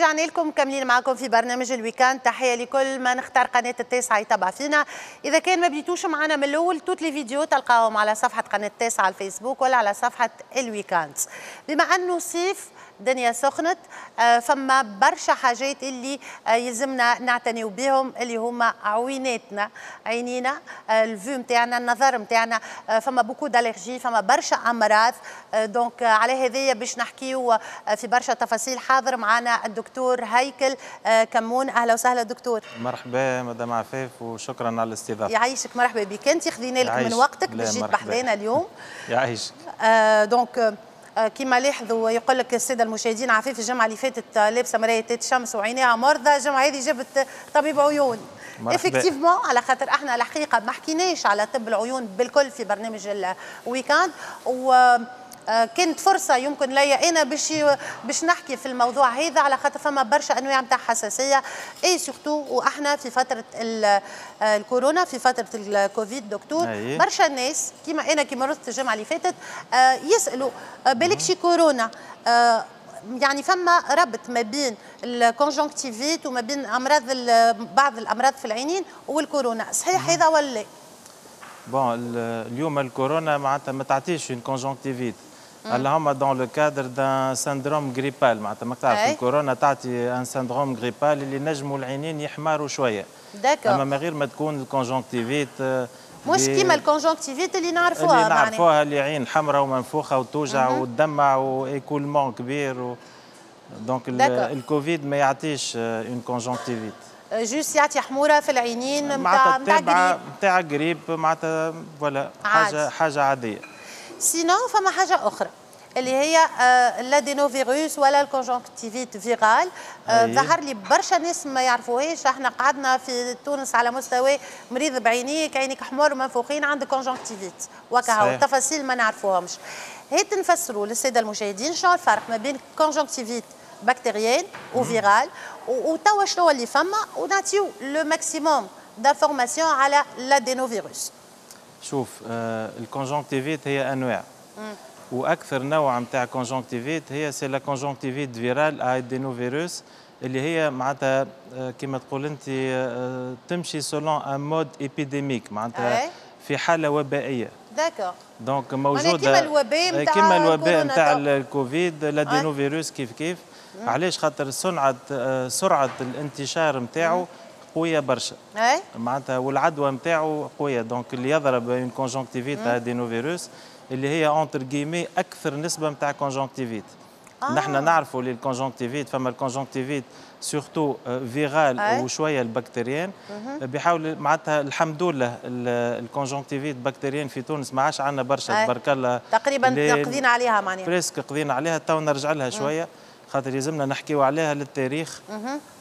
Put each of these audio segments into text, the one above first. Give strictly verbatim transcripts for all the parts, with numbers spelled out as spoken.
رجعنا لكم مكملين معكم في برنامج ال week-end. تحية لكل من اختار قناة التاسعة يتابع فينا. اذا كان ما بديتوش معنا من الاول، toutes les vidéos تلقاهم على صفحة قناة التاسعة على الفيسبوك ولا على صفحة ال week-end. بما انه صيف، الدنيا سخنت، آه، فما برشا حاجات اللي آه، يلزمنا نعتنيو بهم، اللي هما عويناتنا، عينينا، آه، ال vue نتاعنا، النظر نتاعنا. فما beaucoup d'allergies، فما برشا امراض، donc على هذايا باش نحكيو في برشا تفاصيل. حاضر معنا الدكتور هيكل كمون. اهلا وسهلا دكتور. مرحبا مدام عفاف وشكرا على الاستضافه. يعيشك، مرحبا بك. انت خذينا لك من وقتك باش جيت بحذانا اليوم. يعيشك. donc آه، كما لاحظوا، يقول لك السادة المشاهدين، عفيف الجمعة اللي فاتت آه، لابسه مراية شمس وعينيها مرضى، الجمعة هذه جبت طبيب عيون. effectivement، على خاطر احنا الحقيقة ما حكيناش على طب العيون بالكل في برنامج ال week-end، و آه، كانت فرصة يمكن ليا انا باش باش نحكي في الموضوع هذا، على خاطر فما برشا انواع نتاع حساسيه، et surtout واحنا في فترة الكورونا، في فترة الكوفيد دكتور. أيه. برشا ناس كيما انا كي مرضت الجمعة اللي فاتت آه، يسالوا آه، بالك شي كورونا. يعني فما ربط ما بين ال conjonctivite وما بين امراض، بعض الامراض في العينين والكورونا، صحيح هذا ولا؟ bon، اليوم الكورونا معناتها ما تعطيش une conjonctivite، اللهم dans le cadre d'un syndrome grippal. معناتها ما تعرف، الكورونا تعطي un syndrome grippal اللي نجموا العينين يحمروا شويه، d'accord اما من غير ما تكون ال conjonctivite. مش كيما ال conjonctivite اللي نعرفوها. اللي نعرفوها، اللي عين حمراء ومنفوخه وتوجع وتدمع و écoulement كبير و donc الكوفيد ما يعطيش une conjonctivite. juste يعطي حموره في العينين. نتاع نتاع نتاع قريب معناتها، voilà، حاجة حاجة عاديه. sinon فما حاجة اخرى اللي هي l'adénovirus ولا ال conjonctivite virale. ظهر لي برشا ناس ما يعرفوهاش. احنا قعدنا في تونس على مستوى مريض بعينيك، عينيك حمر ومنفوخين، عندك conjonctivite وكهو، التفاصيل ما نعرفوهمش. هات نفسروا للسادة المشاهدين شنو الفرق ما بين conjonctivite bactérienne و virale، وتوا شنو اللي فما، ونعطيو le maximum d'informations على l'adénovirus. شوف، آه ال conjonctivite هي انواع، واكثر نوع نتاع conjonctivite هي c'est la conjonctivite virale à adénovirus، اللي هي معناتها آه، كما تقول انت آه، تمشي selon un mode épidémique، معناتها في حاله وبائيه. d'accord donc موجوده. كيما الوباء نتاع كيما الوباء نتاع الكوفيد، l'adénovirus كيف كيف. علاش؟ خاطر سرعه آه، سرعة الانتشار نتاعو قوية برشا معناتها، والعدوى نتاعو قويه. donc اللي يضرب une conjonctivite adénovirus اللي هي entre guillemets اكثر نسبه نتاع conjonctivite. آه. نحن نعرفوا اللي ال conjonctivite، فما ال conjonctivite surtout virale وشوية ال bactérienne. بحاول معناتها الحمد لله ال conjonctivite bactérienne في تونس ما عادش عندنا برشا، تبارك الله. تقريبا قضينا عليها معناها. presque قضينا عليها. تو نرجع لها شويه، خاطر يلزمنا نحكيو عليها للتاريخ.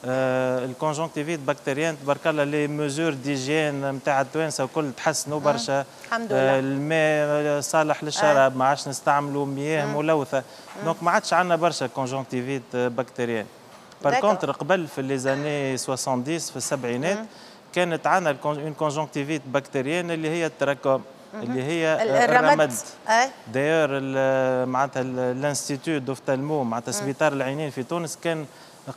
آه ال conjonctivite bactérienne، تبارك الله، les mesures d'hygiène نتاع التوانسة وكل تحسنوا برشا. الحمد لله. آه الماء صالح للشراب، ما عادش نستعملوا مياه ملوثه، donc ما عادش عندنا برشا conjonctivite bactérienne. par contre قبل في les années soixante-dix، في السبعينات، كانت عندنا une conjonctivite bactérienne اللي هي التراكوم، اللي هي الرمد. d'ailleurs معناتها l'institut d'ophtalmo، معناتها سبيطار العينين في تونس، كان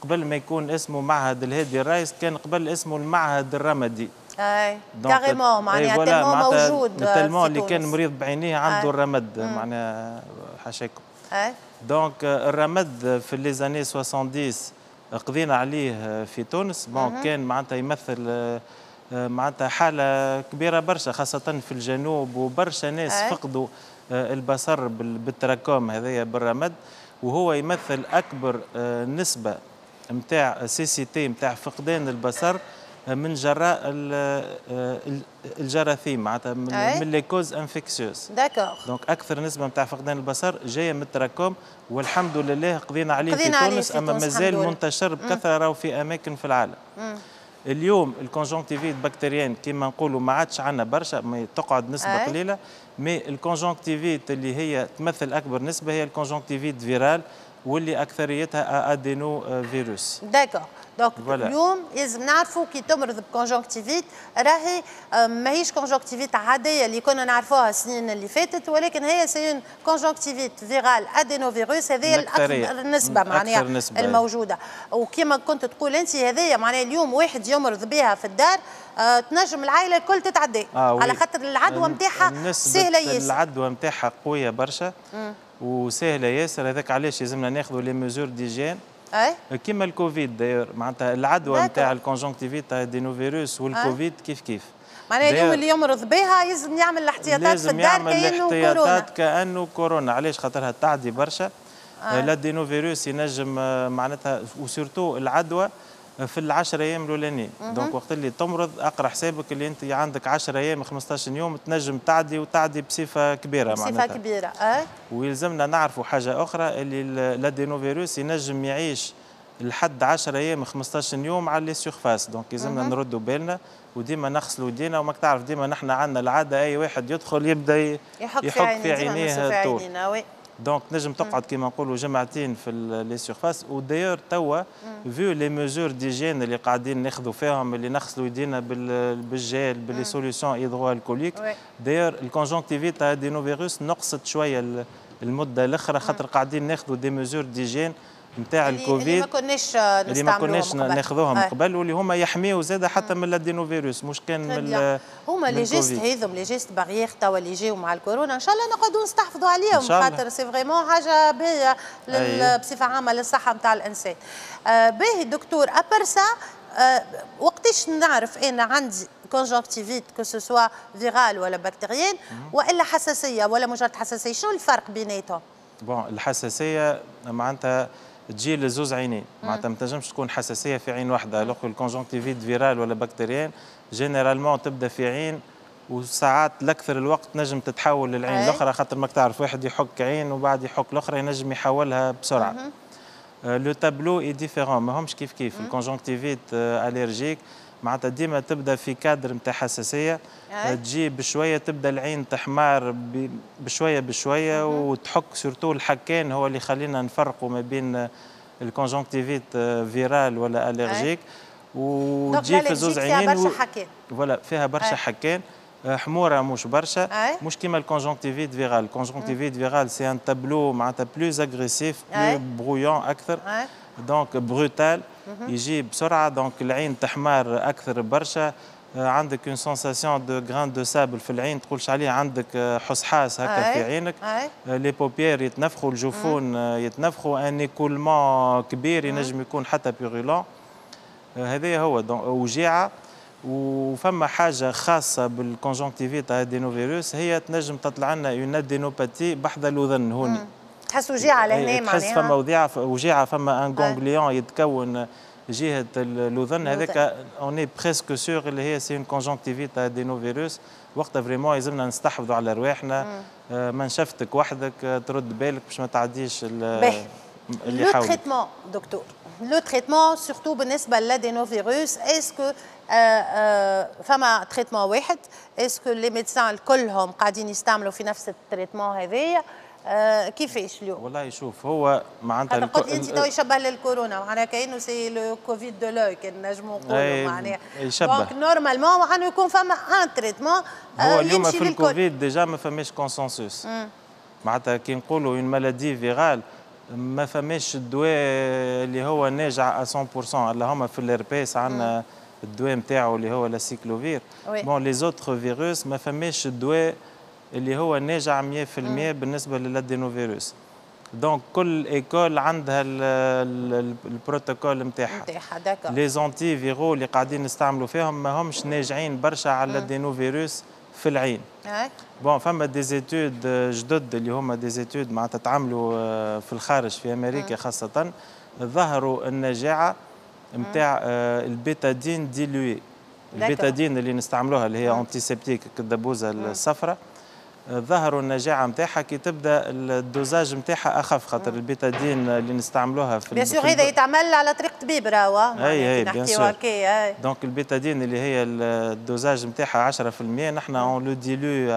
قبل ما يكون اسمه معهد الهادي الرايس، كان قبل اسمه المعهد الرمدي. اي carrément، معناها tellement موجود. tellement اللي كان مريض بعينيه عنده الرمد، معناها حاشاكم. اي donc الرمد في les années soixante-dix قضينا عليه في تونس. bon، كان معناتها يمثل معناتها حاله كبيرة برشا، خاصة في الجنوب، وبرشا ناس أي. فقدوا البصر بالتراكوم هذايا، بالرمد، وهو يمثل اكبر نسبه نتاع cécité، نتاع فقدان البصر من جراء الجراثيم، معناتها من les causes infectieuses. d'accord donc اكثر نسبه نتاع فقدان البصر جاية من التراكوم، والحمد لله قضينا عليه قضينا في تونس، اما مازال منتشر بكثرة راهو في اماكن في العالم. مم. اليوم ال conjonctivite bactérienne كيما نقولوا ما عادش عندنا برشا، mais تقعد نسبه أي. قليله. mais ال conjonctivite اللي هي تمثل اكبر نسبه هي ال conjonctivite virale، واللي اكثريتها adénovirus. d'accord. donc اليوم لازم نعرفوا كي تمرض ب conjonctivite راهي ماهيش conjonctivite عادية اللي كنا نعرفوها السنين اللي فاتت، ولكن هي c'est une conjonctivite virale adénovirus. هذه الاكثر نسبه معناها نسبة الموجوده. وكما كنت تقول انت، هذه معناها اليوم واحد يمرض بها في الدار آه تنجم العائلة الكل تتعدي آه على خاطر العدوى نتاعها سهلة ياسر. العدوى نتاعها قوية برشا وسهلة ياسر، هذاك علاش لازمنا ناخذوا les mesures d'hygiène. اي كيما الكوفيد d'ailleurs، معناتها العدوى نتاع ال conjonctivite adénovirus والكوفيد كيف كيف. معناها اليوم اللي يمرض بها لازم يعمل الاحتياطات في الدار كانه كورونا. الاحتياطات كانه كورونا. علاش؟ خاطرها تعدي برشا. آه. l'adénovirus ينجم معناتها و surtout العدوى في العشر ايام الاولانيين. donc وقت اللي تمرض اقرا حسابك اللي انت عندك عشرة ايام، خمسطاش يوم تنجم تعدي، وتعدي بصفة كبيرة. بصفة معناتها كبيره. اه ويلزمنا نعرفوا حاجة اخرى، اللي l'adénovirus ينجم يعيش لحد عشرة ايام، خمسطاش يوم على les surfaces. donc يلزمنا نردوا بالنا وديما نغسلوا يدينا، وماك تعرف ديما نحن عندنا العاده، اي واحد يدخل يبدا يحك, يحك في عينيه طول. donc نجم تقعد كيما نقولوا جمعتين في les surfaces. و d'ailleurs توا vu les mesures d'hygiène اللي قاعدين ناخذوا فيهم، اللي نغسلوا يدينا بال gel، ب les solutions hydroalcooliques، d'ailleurs ال conjonctivite adénovirus نقصت شوية المدة الاخرى، خاطر قاعدين ناخذوا des mesures d'hygiène نتاع الكوفيد اللي ما كناش اللي ما كناش ناخذوهم قبل، واللي هما يحميوا زاد حتى من l'adénovirus، مش كان من هما les gestes هذم، les gestes barrières توا اللي يجيو مع الكورونا، ان شاء الله نقعدوا نستحفظوا عليهم، خاطر c'est vraiment حاجة باهيه بصفة عامة للصحة نتاع الانسان. آه باهي دكتور، à part ça آه وقتاش نعرف انا عندي conjonctivite، que ce soit virale ولا bactérienne والا حساسية ولا مجرد حساسيه؟ شنو الفرق بيناتهم؟ bon، الحساسية معناتها تجي لزوز عينين، معناتها ما تنجمش تكون حساسية في عين واحده. alors ال conjonctivite virale ولا bactérienne généralement تبدا في عين، وساعات الاكثر الوقت نجم تتحول للعين الاخرى، خاطر ماك تعرف واحد يحك عين وبعد يحك الاخرى، ينجم يحولها بسرعه. le tableau est différent، ماهمش كيف كيف. ال conjonctivite allergique معناتها ديما تبدا في كادر نتاع حساسيه، تجي بشويه، تبدا العين تحمار بشوية بشوية وتحك. surtout الحكان هو اللي يخلينا نفرقوا ما بين ال conjonctivite virale ولا allergique. وتجي في زوز عينين، فيها برشا حكان. voilà، فيها برشا حكان، حموره مش برشا، مش كيما ال conjonctivite virale. ال conjonctivite virale c'est un tableau معناتها plus agressif، plus bruyant اكثر، donc brutal، يجي بسرعه، donc العين تحمر اكثر برشا، عندك une sensation de grains de sable في العين، تقولش عليه عندك حصحاص هكا في عينك، les paupières يتنفخوا، الجفون يتنفخوا، un écoulement كبير ينجم يكون حتى purulent. هذا هو وجيعه. وفما حاجة خاصة بال conjonctivite adénovirus، هي تنجم تطلع لنا une adénopathie بحذا الاذن هوني. تحس وجيعه لهنا معناها؟ تحس فما وجيعه، وجيعه، فما un ganglion يتكون جهة الاذن. هذاك on est presque sûr اللي هي c'est une conjonctivite adénovirus. وقتها vraiment يلزمنا نستحفظوا على رواحنا، آه، منشفتك وحدك، ترد بالك باش ما تعديش اللي le traitement docteur، le traitement surtout بالنسبة لل adénovirus، est-ce que فما traitement واحد؟ est-ce que les médecins كلهم قاعدين يستعملوا في نفس ال traitement هذايا؟ آه كيفاش اليوم؟ والله شوف، هو معناتها قلت انت تو يشبه للكورونا، معناها كانه c'est le Covid de l'œil كان نجموا نقولوا معناها. يشبه. donc normalement انه يكون فما un traitement. هو اليوم في الكوفيد déjà ما فماش consensus. معناتها كي نقولوا une maladie virale ما فماش الدواء اللي هو ناجع مية بالمية. اللهم في الهربيس عندنا الدواء نتاعو اللي هو l'aciclovir. bon، les autres virus ما فماش الدواء اللي هو ناجع مية بالمية بالنسبة لل adénovirus. donc كل école عندها البروتوكول نتاعها. نتاعها، d'accord. les antiviraux اللي قاعدين نستعملوا فيهم ما همش ناجعين برشا على l'adénovirus في العين. bon، فما des études جدد اللي هما des études معناتها تعملوا آه، في الخارج، في امريكا خاصه، ظهروا النجاعه نتاع ال bétadine diluée. ال bétadine اللي نستعملوها، اللي هي antiseptique، الدبوزه الصفراء، ظهروا النجاعه نتاعها كي تبدا ال dosage نتاعها اخف، خاطر البيتادين اللي نستعملوها في bien sûr هذا يتعمل على طريق طبيب راهو. اي اي bien sûr. donc ال bétadine اللي هي ال dosage نتاعها عشرة بالمية، نحن on le dilue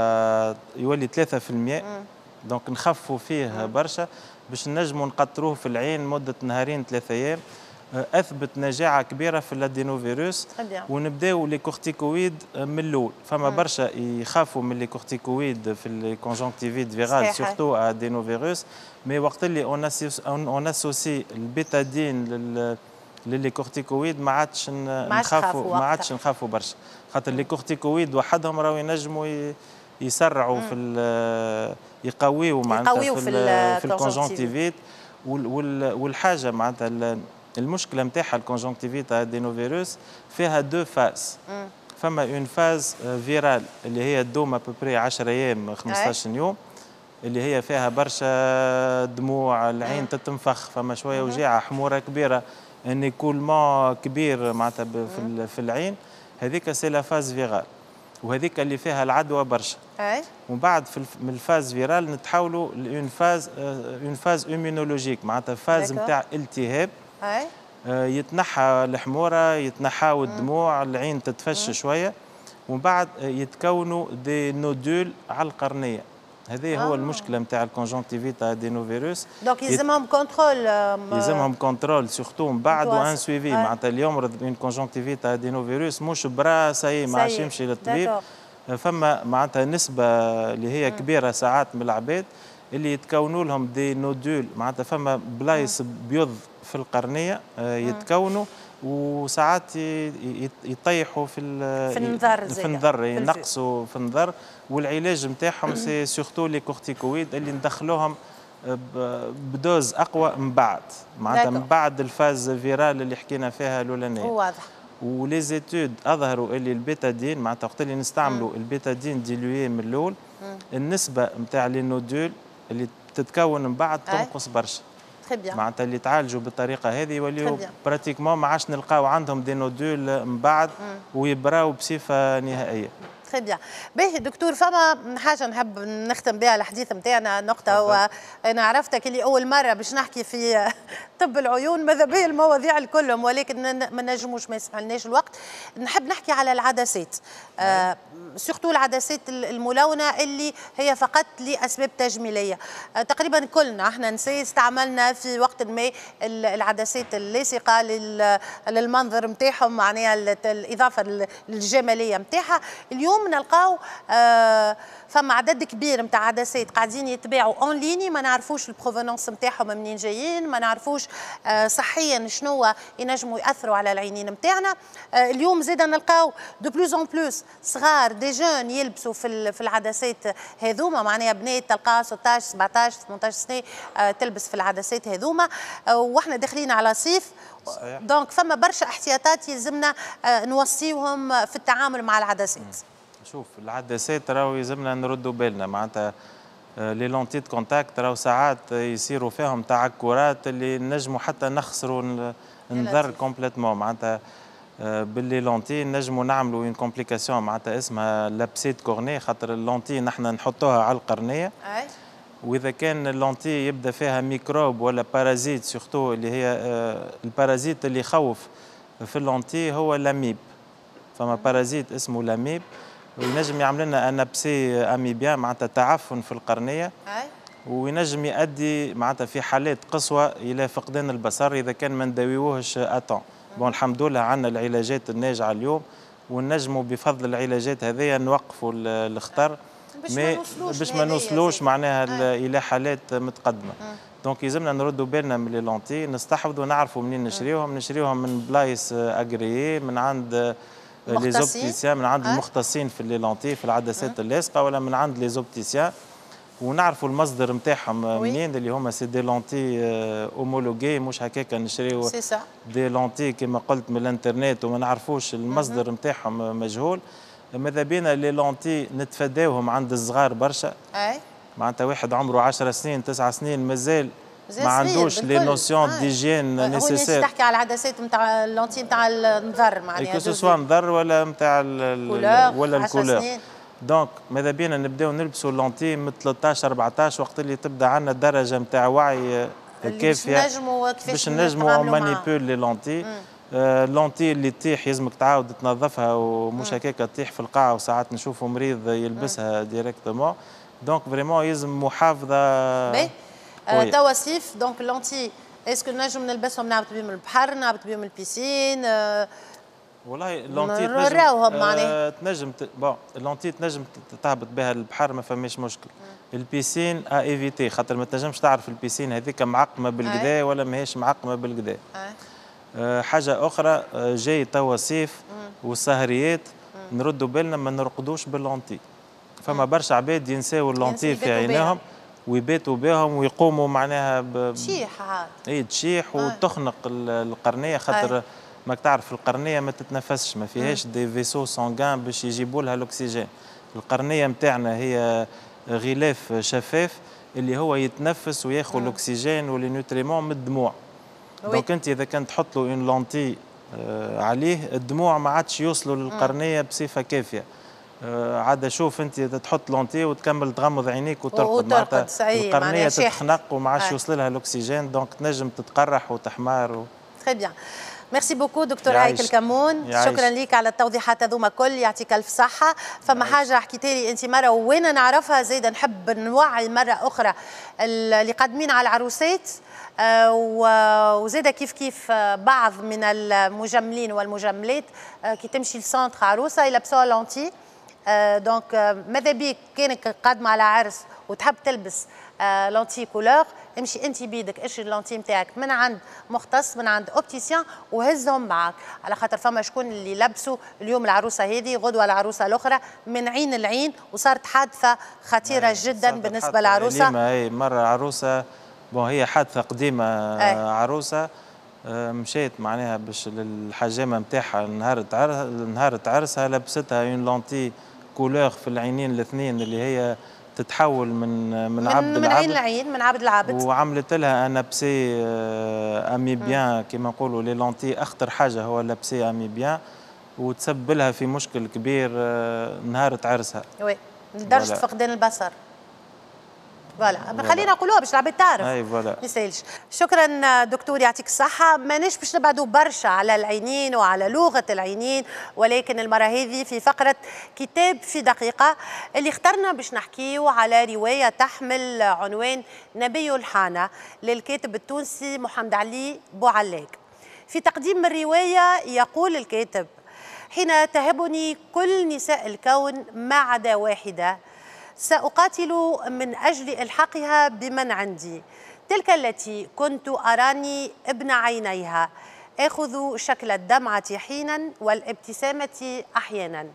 يولي ثلاثة بالمية، donc نخفوا فيه برشا باش نجموا نقطروه في العين مده نهارين ثلاثة ايام. اثبت نجاعه كبيرة في l'adénovirus. ونبداو les corticoïdes من الاول. فما برشا يخافوا من les corticoïdes في les conjonctivites virales، surtout adénovirus، mais وقت اللي on associe البيتادين لل les corticoïdes ما عادش نخافوا، ما عادش نخافوا برشا، خاطر les corticoïdes وحدهم راهو ينجموا يسرعوا في، يقويوا معناتها في في ال conjonctivite. والحاجة معناتها المشكلة نتاعها ال conjonctivite adénovirus فيها deux phases. فما une phase virale اللي هي تدوم à peu près عشرة ايام، خمسطاش يوم، اللي هي فيها برشا دموع، العين تتنفخ، فما شوية وجيعه، حموره كبيره، un écoulement كبير معناتها في, في العين. هذيك c'est la phase virale، وهذيك اللي فيها العدوى برشا. ومن بعد في من ال phase virale نتحولوا ل une phase une phase immunologique، معناتها phase نتاع التهاب، آه، يتنحى الحموره، يتنحاو الدموع، العين تتفش شويه، ومن بعد يتكونوا des nodules على القرنيه. هذه آه. هو المشكلة نتاع ال conjonctivite adénovirus. donc يلزمهم contrôle. يلزمهم contrôle surtout من بعد و un suivi. معناتها اللي يمرض une conjonctivite adénovirus مش برا ça y est ما عادش يمشي للطبيب. فما معناتها نسبه اللي هي كبيرة ساعات من العباد اللي يتكونوا لهم des nodules، معناتها فما بلايص بيض في القرنيه آه، يتكونوا وساعات يطيحوا في في النظر. في النظر، ينقصوا في النظر. والعلاج نتاعهم c'est surtout les corticoïdes اللي ندخلوهم ب dose اقوى من بعد، معناتها من بعد ال phase virale اللي حكينا فيها الاولانيه. واضح. و les études اظهروا اللي البيتادين، معناتها وقت اللي نستعملوا البيتادين dilué من الاول، النسبة نتاع les nodules اللي تتكون من بعد تنقص برشا. معناتها اللي تعالجوا بالطريقة هذه يوليو pratiquement ما عادش نلقاو عندهم des nodules من بعد ويبراو بصفة نهائيه. très bien. باهي دكتور، فما حاجة نحب نختم بها الحديث نتاعنا، نقطه. هو انا عرفتك اللي اول مرة باش نحكي في طب العيون، ماذا به المواضيع الكلهم، ولكن ما نجموش، ما يسمحلناش الوقت. نحب نحكي على العدسات، آه surtout العدسات الملونة اللي هي فقط لاسباب تجميليه. آه تقريبا كلنا احنا نساء استعملنا في وقت ما العدسات اللاصقه للمنظر نتاعهم، معناها الاضافة للجماليه نتاعها. اليوم نلقاو آه فما عدد كبير نتاع عدسات قاعدين يتباعوا en ligne، ما نعرفوش ال provenance نتاعهم منين جايين، ما نعرفوش آه صحيا شنو ينجموا ياثروا على العينين نتاعنا. آه اليوم زيد نلقاو de plus en plus صغار، des jeunes، يلبسوا في في العدسات هذوما، معناها بنات تلقاها ستاش، سبعطاش، ثمنطاش سنة آه تلبس في العدسات هذوما، آه واحنا داخلين على صيف. donc فما برشا احتياطات يلزمنا آه نوصيوهم في التعامل مع العدسات. شوف، العدسات راهو يلزمنا نردوا بالنا، معناتها آه، les lentilles de contact راهو ساعات يصيروا فيهم تعكرات اللي نجموا حتى نخسروا النظر complètement. معناتها آه، بال les lentilles نجموا نعملوا une complication معناتها اسمها l'abcès de cornée، خاطر ال lentille نحن نحطوها على القرنيه، واذا كان ال lentille يبدا فيها ميكروب ولا parasite، surtout اللي هي آه، ال parasite اللي يخوف في ال lentille هو l'amibe. فما parasite اسمه l'amibe وينجم يعمل لنا un abcès amibien، معناتها تعفن في القرنيه، وينجم يؤدي معناتها في حالات قصوى الى فقدان البصر اذا كان ما نداويوهش à temps. bon، الحمد لله عندنا العلاجات الناجعه اليوم، ونجموا بفضل العلاجات هذه نوقفوا الخطر باش ما نوصلوش، باش ما نوصلوش معناها الى حالات متقدمه. donc يلزمنا نردوا بالنا من les lentilles، نستحفظوا، نعرفوا منين نشريوهم، نشريوهم من بلايص agréés، من عند les opticiens، من عند المختصين في les lentilles، في العدسات اللاصقه، ولا من عند les opticiens، ونعرفوا المصدر نتاعهم منين، اللي هما c'est des lentilles homologuées، مش هكاك نشريو des lentilles كما قلت من الانترنت وما نعرفوش المصدر نتاعهم، مجهول. ماذا بينا les lentilles نتفاداوهم عند الصغار برشا. اي معناتها واحد عمره عشر سنين، تسع سنين، مازال ما عندوش les notions d'hygiène nécessaires. تحكي على العدسات نتاع ال lentilles نتاع النظر معناها، que ce soit نظر ولا نتاع ولا ال couleur. donc ماذا بينا نبداو نلبسوا lentilles من ثلاثطاش، أربعطاش، وقت اللي تبدا عندنا درجه نتاع وعي كافيه باش نجموا manipuler les lentilles. lentilles اللي تطيح يلزمك تعاود تنظفها، ومش هكاك تطيح في القاعه، وساعات نشوفوا مريض يلبسها directement. donc vraiment يلزم محافظه. توا صيف، donc lentille est-ce que نجم نلبسهم نهبط بهم البحر، نهبط بهم ال piscine؟ آه والله lentilles تنجم آه تنجم bon lentilles تنجم تهبط بها البحر، ما فماش مشكل. ال piscine à éviter، خاطر ما تنجمش تعرف ال piscine هذيك معقمه بالقدا ولا ماهيش معقمه بالقدا. آه حاجة اخرى، آه جاي توا صيف والسهريات، نردوا بالنا ما نرقدوش بال lentilles. فما برشا عباد ينساو ال lentilles في عينيهم ويباتوا بهم ويقوموا معناها ب... تشيح عاد. اي تشيح وتخنق القرنيه، خاطر ماك تعرف القرنيه ما تتنفسش، ما فيهاش des vaisseaux sanguins باش يجيبوا لها الاكسجين. القرنيه نتاعنا هي غلاف شفاف اللي هو يتنفس وياخذ الاكسجين و les nutriments من الدموع. donc انت اذا كان تحط له une lentille آه عليه، الدموع ما عادش يوصلوا للقرنيه بصفة كافيه. آه عاد شوف انت تحط lentille وتكمل تغمض عينيك وترقد، معناتها القرنيه تتخنق وما عادش يوصل لها الاكسجين، donc تنجم تتقرح وتحمار و... très bien، merci beaucoup دكتور هيكل كمون، شكرا لك على التوضيحات هذوما كل، يعطيك الف صحه. فما حاجة حكيت لي انت مرة وين نعرفها زايدة، نحب نوعي مرة اخرى اللي قادمين على العروسات آه، وزاده كيف كيف آه، بعض من المجملين والمجملات آه، كي تمشي ل centre عروسه يلبسوها lentilles. donc ماذا بيك كانك قادمة على عرس وتحب تلبس lentilles couleur، امشي انت بيدك اشري ال lentilles نتاعك من عند مختص، من عند opticien، وهزهم معاك، على خاطر فما شكون اللي لبسوا اليوم العروسة هذه، غدوه العروسة الاخرى، من عين العين، وصارت حادثه خطيرة جدا بالنسبة للعروسه. اي مرة عروسه، bon هي حادثه قديمه، أي. عروسه آه، مشيت معناها باش للحجامه نتاعها نهار نهار عرسها، لبستها une lentille couleur في العينين الاثنين اللي هي تتحول من من, عبد من عين لعين، من عبد لعبد. وعملت لها un abcès amibien. كما نقولوا les lentilles اخطر حاجة هو l'abcès amibien، وتسبب لها في مشكل كبير آه، نهار عرسها. oui، لدرجة فقدان البصر، voilà، خلينا نقولوها باش العباد تعرف. اي voilà. ما يسالش، شكرا دكتور، يعطيك الصحة. ماناش باش نبعدوا برشا على العينين وعلى لغة العينين، ولكن المرة هذه في فقرة كتاب في دقيقة اللي اخترنا باش نحكيو على رواية تحمل عنوان نبي الحانة للكاتب التونسي محمد علي بوعلاق. في تقديم الرواية يقول الكاتب: حين تهبني كل نساء الكون ما عدا واحدة، سأقاتل من أجل إلحاقها بمن عندي، تلك التي كنت أراني ابن عينيها، آخذ شكل الدمعة حينا والابتسامة أحيانا.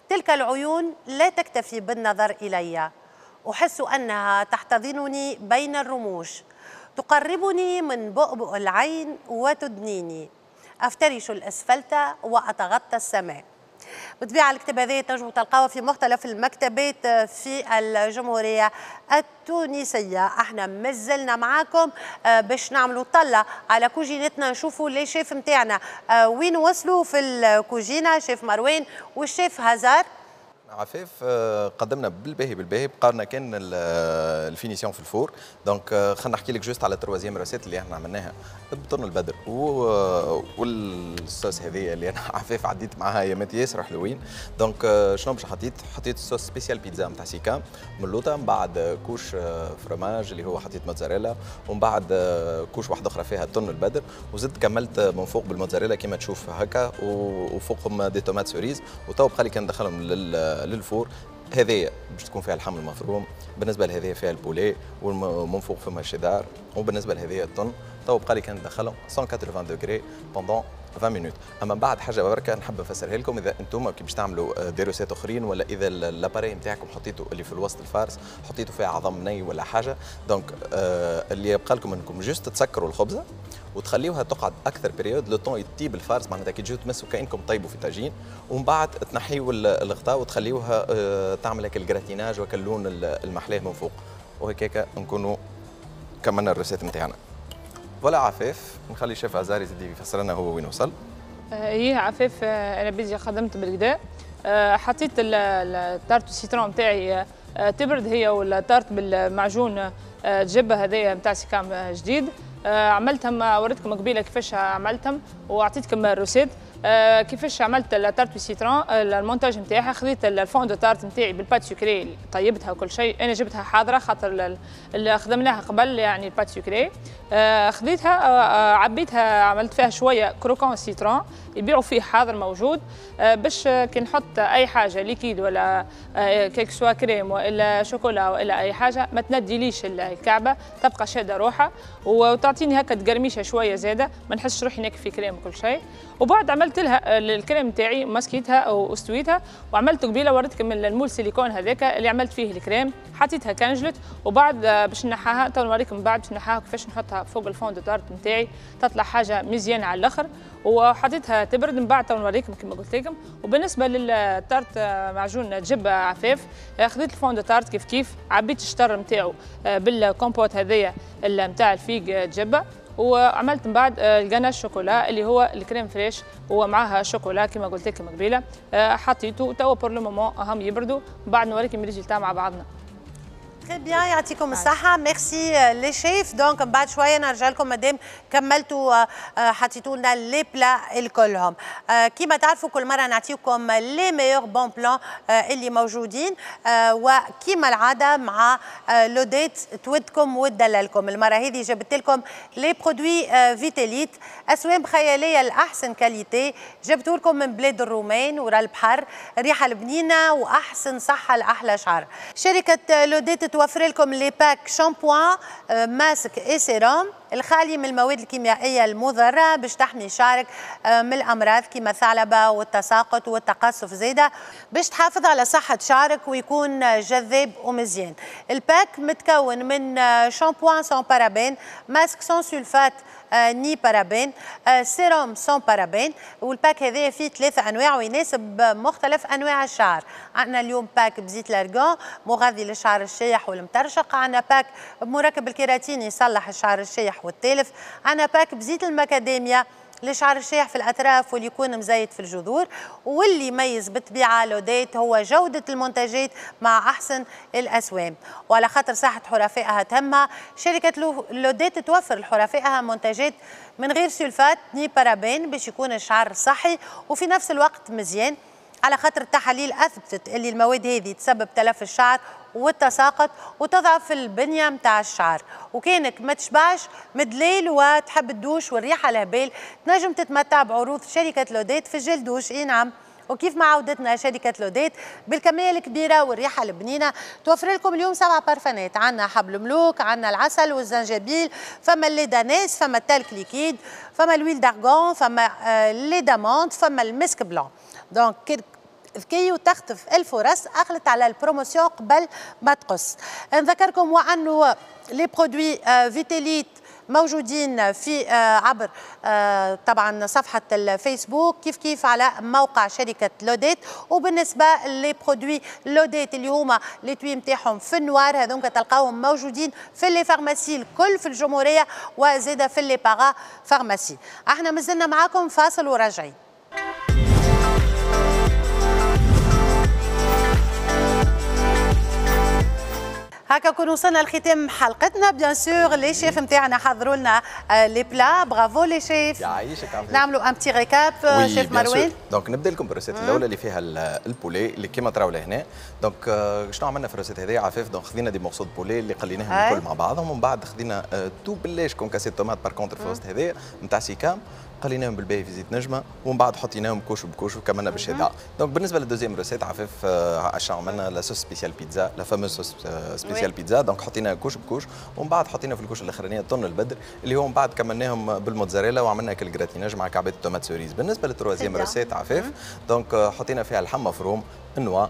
تلك العيون لا تكتفي بالنظر إلي، أحس أنها تحتضنني بين الرموش، تقربني من بؤبؤ العين وتدنيني، أفترش الأسفلت وأتغطى السماء. بالطبيعة الكتاب هذا تنجموا تلقاوه في مختلف المكتبات في الجمهورية التونسية. احنا مازلنا معاكم آه، باش نعملوا طلة على كوجينتنا، نشوفوا les chefs نتاعنا آه، وين وصلوا في الكوجينة، شيف مروان والشيف هزار. عفاف، آه، قدمنا بالباهي بالباهي، بقى لنا كان ال finition في ال four. donc آه، خلينا نحكي لك juste على ال troisième recette اللي احنا عملناها بطن البدر والصوص هذه اللي انا عفاف عديت معاها ايامات ياسر حلوين. donc آه، شنو باش حطيت؟ حطيت sauce spéciale pizza نتاع سيكام من اللوطه، من بعد couche fromage اللي هو حطيت موتزاريلا، ومن بعد couche واحدة اخرى فيها تن البدر، وزدت كملت من فوق بالموتزاريلا كما تشوف هكا، وفوقهم des tomates cerises. وتو بقى لي كان ندخلهم لل four. هذه باش تكون فيها اللحم المفروم، بالنسبة لهذه فيها ال poulet ومن فوق فما شيدار، وبالنسبة لهذه الطن. تو بقى لي كان ندخلهم مية وثمانين degrés pendant عشرين minutes. اما بعد حاجة بركة نحب نفسرها لكم، اذا انتم كي باش تعملوا des recettes اخرين ولا اذا l'appareil نتاعكم حطيتوا اللي في الوسط ال farce حطيتوا فيها عظم ني ولا حاجه، donc آه اللي يبقى لكم انكم juste تسكروا الخبزة وتخليوها تقعد اكثر période le temps يطيب ال farce، معناتها كي تجيو تمسوا كانكم طيبوا في طاجين، ومن بعد تنحيوا الغطاء وتخليوها آه تعمل هيك ال gratinage وكاللون المحلاه من فوق، وهكاك نكونوا كملنا ال recette نتاعنا. voilà عفاف، نخلي شيف عزار يزيد يفسر لنا هو وين وصل. ايه عفاف، آه، انا بيجي خدمت بالقدا، آه، حطيت ال tarte citron نتاعي آه، تبرد هي وال tarte بالمعجون جبه هذايا نتاع سيكام جديد. عملتهم، وريتكم قبيلة كيفاش عملتهم واعطيتكم ال recette. آه كيفاش عملت ال tarte citron؟ ال montage نتاعها خذيت ال fond de tarte نتاعي بال pâte sucrée، طيبتها وكل شيء، انا جبتها حاضره خاطر اللي خدمناها قبل يعني ال pâte sucrée. آه خذيتها آه عبيتها، عملت فيها شوية croquant citron يبيعوا فيه حاضر موجود، آه باش كي نحط اي حاجة liquide ولا آه que ce soit crème ولا شوكولا ولا اي حاجة ما تنديليش الكعبة، تبقى شاده روحها وتعطيني هكا تقرميشه شوية زاده، ما نحسش روحي ناكل في كريم وكل شيء. وبعد عملت لها الكريم تاعي مسكيتها او استويتها، وعملت قبيلة وريتكم ال moule silicone هذاك اللي عملت فيه الكريم، حطيتها كنجلت. وبعد باش نحاها تو نوريكم بعد باش نحاها كيفاش نحطها فوق ال fond de tarte نتاعي، تطلع حاجة مزيانه على الاخر. وحطيتها تبرد من بعد تو نوريكم كما قلت لكم. وبالنسبة لل tarte معجون جبه عفاف، خذيت ال fond de tarte كيف كيف، عبيت الشطر نتاعو بالكومبوت هذايا نتاع ال figue جبه، وعملت من بعد ال ganache chocolat اللي هو ال crème fraîche ومعاها شوكولا كما قلت لكم قبيلة، حطيته توا pour le moment هم يبردوا، بعد نوريكم ال résultat مع بعضنا. très bien، يعطيكم الصحة، merci les chefs. donc من بعد شوية نرجع لكم مادام كملتوا حطيتوا لنا les plats الكلهم. كيما تعرفوا كل مرة نعطيكم les meilleurs bons plans اللي موجودين، وكيما العادة مع لوديت تودكم وتدللكم. المرة هذه جبت لكم les produits فيتاليت، أسوام خيالية الأحسن qualité، جبت لكم من بلاد الرومان ورا البحر، ريحة البنينة وأحسن صحة لأحلى شعر. شركة لوديت توفر لكم les packs shampoing masque et sérum الخالي من المواد الكيميائية المضرة باش تحمي شعرك من الامراض كما الثعلبه والتساقط والتقصف زاده، باش تحافظ على صحة شعرك ويكون جذاب ومزيان. ال pack متكون من shampoing sans parabène، masque sans sulfate ni parabène، sérum sans parabène. وال pack هذا فيه ثلاثة انواع ويناسب مختلف انواع الشعر. عندنا اليوم pack بزيت l'argan مغذي للشعر الشايح والمترشق، عندنا pack بمركب الكيراتين يصلح الشعر الشايح والتالف، عندنا pack بزيت المكاديميا لشعر الشايح في الأطراف واللي يكون مزيت في الجذور. واللي يميز بالطبيعة لوديت هو جودة المنتجات مع أحسن الأسوام. وعلى خاطر صحة حرفائها تهمها، شركة لوديت توفر لحرفائها منتجات من غير sulfate ni parabène باش يكون الشعر صحي وفي نفس الوقت مزيان، على خاطر التحاليل أثبتت اللي المواد هذه تسبب تلف الشعر والتساقط وتضعف البنية متاع الشعر. وكانك ما تشبعش مدليل وتحب الدوش والريحة الهبال، تنجم تتمتع بعروض شركة لوديت في ال gel douche. اي نعم، وكيف ما عودتنا شركة لوديت بالكمية الكبيرة والريحة البنينة، توفر لكم اليوم سبع بارفانات. عندنا حبل ملوك، عندنا العسل والزنجبيل، فما ال lait d'ânesse، فما ال talc liquide، فما l'huile d'argan، فما lait d'amande، فما المسك blanc. donc ذكي وتخطف الفرص، اخلت على ال promotion قبل ما تقص. نذكركم وانه les produits فيتاليت موجودين في عبر طبعا صفحة الفيسبوك، كيف كيف على موقع شركة لوديت. وبالنسبة les produits لوديت اللي هما les étuis نتاعهم في ال noir، هذوك تلقاهم موجودين في les pharmacies الكل في الجمهورية وزاده في les parapharmacies. احنا مازلنا معاكم فاصل وراجعين. هكا كون وصلنا لختام حلقتنا. bien sûr les chefs نتاعنا حضروا لنا les plats، bravo les chefs. يعيشك عافية. نعملوا un petit récap chef مروان. donc نبدا لكم بال recette الاولى اللي فيها ال poulet اللي كيما تراو لهنا. donc شنو عملنا في ال recette هذه عفاف؟ donc خذينا des morceaux poulet اللي قليناهم الكل مع بعضهم، ومن بعد خذينا tout بلاش concassé tomate par contre في وسط هذايا نتاع سيكام، قليناهم بالباهي في زيت نجمه، ومن بعد حطيناهم couche ب couche وكملنا بالشدع. donc بالنسبة لل deuxième recette عفاف عشان عملنا la sauce spéciale pizza، la fameuse sauce spéciale pizza. donc حطينا couche ب couche، ومن بعد حطينا في ال couche الاخرانية الطن البدر اللي هو من بعد كملناهم بالموتزاريلا وعملنا كل gratinage مع كعبات ال tomates cerises. بالنسبة لل troisième recette عفاف، donc حطينا فيها اللحم مفروم، ال noix،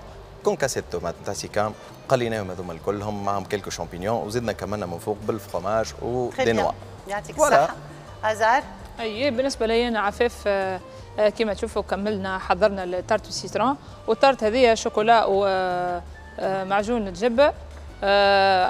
concassé tomate نتاع سيكام، قليناهم هذوما الكلهم معهم quelques champignons، وزدنا كملنا من فوق بال fromage و des noix. يعطيك الصحة ازار. اي بالنسبة لي انا عفاف، كما تشوفوا كملنا حضرنا ال tarte citron، وال tarte هذه شوكولا ومعجون الجبة.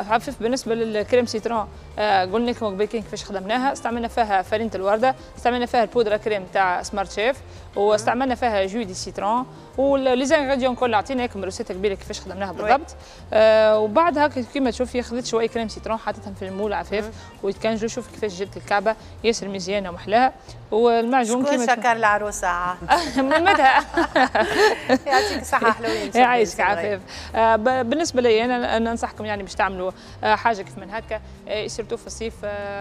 عفاف بالنسبة لل crème citron آه قلنا لكم قبل كيفاش خدمناها. استعملنا فيها فرينه الورده، استعملنا فيها ال poudre crème تاع Smart Chef، واستعملنا فيها jus de citron و les ingrédients كل. عطينا لكم recette كبيرة كيفاش خدمناها بالضبط. آه وبعدها كيما تشوفي خذيت شوية crème citron حطيتهم في ال moule عفاف ويتكنجلوا. شوف كيفاش جبت الكعبة ياسر مزيانه ومحلاها. والمعجون كيما شكر العروسة مدها. يعطيك الصحة حلوين. يعيشك عفاف. آه بالنسبة لي انا ننصحكم يعني باش تعملوا حاجة كيف من هكا، surtout في الصيف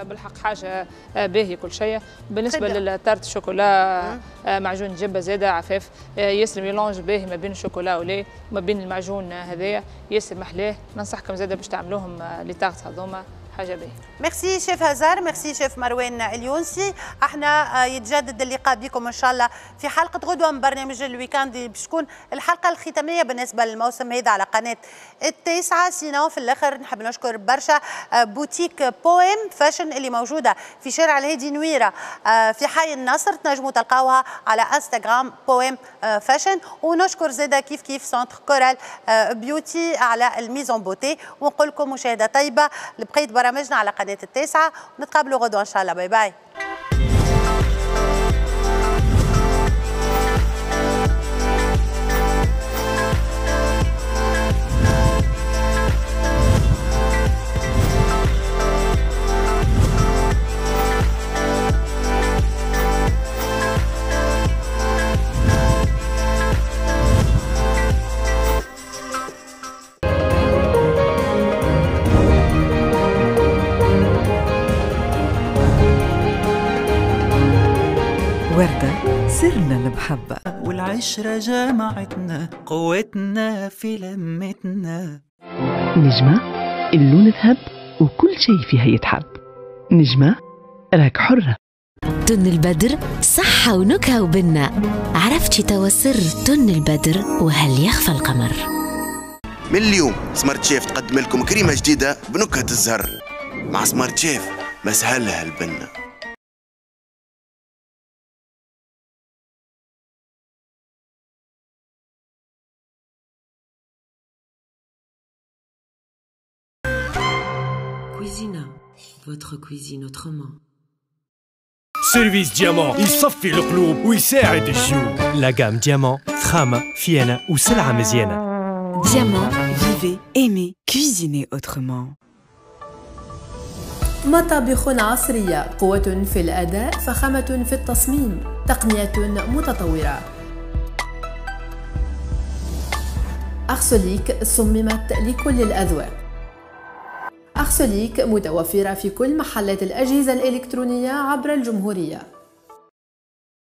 بالحق حاجة باهيه كل شيء. بالنسبة لل tarte chocolat معجون جبه زاده عفاف ياسر mélange باهي ما بين الشوكولا ولي وما بين المعجون هذايا ياسر محلاه. ننصحكم زاده باش تعملوهم les tartes هذوما حاجة باهيه. merci chef هزار، merci chef مروان اليونسي. احنا يتجدد اللقاء بكم ان شاء الله في حلقة غدوه من برنامج ال week-end، باش تكون الحلقة الختامية بالنسبة للموسم هذا على قناة التاسعة. sinon في الاخر نحب نشكر برشا boutique Poème Fashion اللي موجودة في شارع الهادي نويره في حي النصر، تنجموا تلقاوها على انستغرام Poème Fashion. ونشكر زاده كيف كيف centre Coral Beauty على ال mise en beauté. ونقول لكم مشاهده طيبة لبقية برامجنا على قناة التاسعة، ونتقابلوا غدوة إن شاء الله. bye bye. وردة سرنا المحبة والعشرة جمعتنا، قوتنا في لمتنا. نجمة اللون ذهب وكل شيء فيها يتحب. نجمة راك حرة. تن البدر صحة ونكهة وبنة. عرفتي توا سر تن البدر وهل يخفى القمر؟ من اليوم Smart Chef تقدم لكم كريمة جديدة بنكهة الزهر. مع Smart Chef مسهلها البنة. Cuisina, votre cuisine autrement. service Diamant يصفي القلوب ويساعد الجيوب. la gamme Diamant فخامة فيانة وسلعة مزيانة. Diamant, vivez, aimez, cuisinez autrement. مطابخ عصرية، قوة في الأداء، فخامة في التصميم، تقنية متطورة. أرسوليك صممت لكل الأذواق. أرسوليك متوفرة في كل محلات الأجهزة الإلكترونية عبر الجمهورية.